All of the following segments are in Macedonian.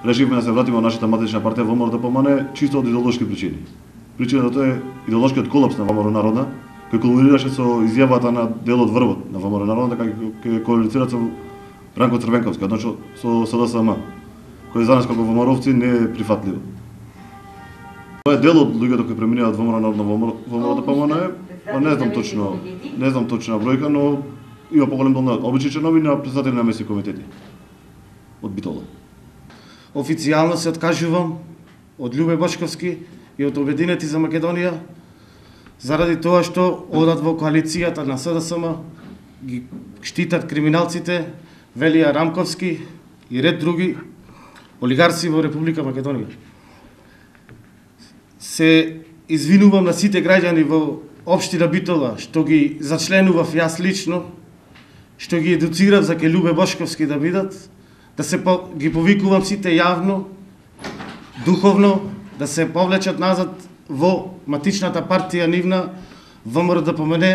решивме да се вратиме во нашата матична партија ВМРО ДПМН чисто од идеолошки причини. Причината е идеолошкиот колапс на ВМРО Народна, кој кулминираше со изјавата на дел од врвот на ВМРО Народна, кај коалицира со Ранко Црвенковски, односно со СДСМ, кој за нас како ВМРО-овци не е прифатливо. Тоа е дел од луѓето кои преминуваат ВМРО Народна во ВМРО ДПМН, па не знам точна бројка, но има поголем дел на обични членови на претседатели на месни комитети од Битола. Официјално се откажувам од Љубе Бошковски и од Обединети за Македонија, заради тоа што одат во коалицијата на СДСМ, ги штитат криминалците, Велија Рамковски и ред други олигарси во Република Македонија. Се извинувам на сите граѓани во општина Битола што ги зачленував јас лично, што ги едуцирав за ке Љубе Бошковски да бидат, ги повикувам сите јавно, духовно, да се повлечат назад во матичната партија нивна ВМРО ДПМН,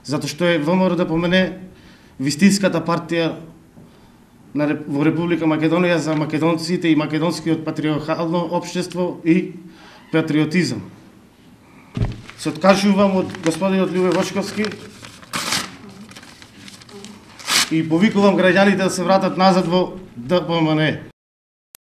затоа што е ВМРО ДПМН вистинската партија во Република Македонија за македонците и македонскиот патриархално општество и патриотизам. Се откажувам од господинот Љубе Бошковски и повикувам граѓаните да се вратат назад во ДПМН.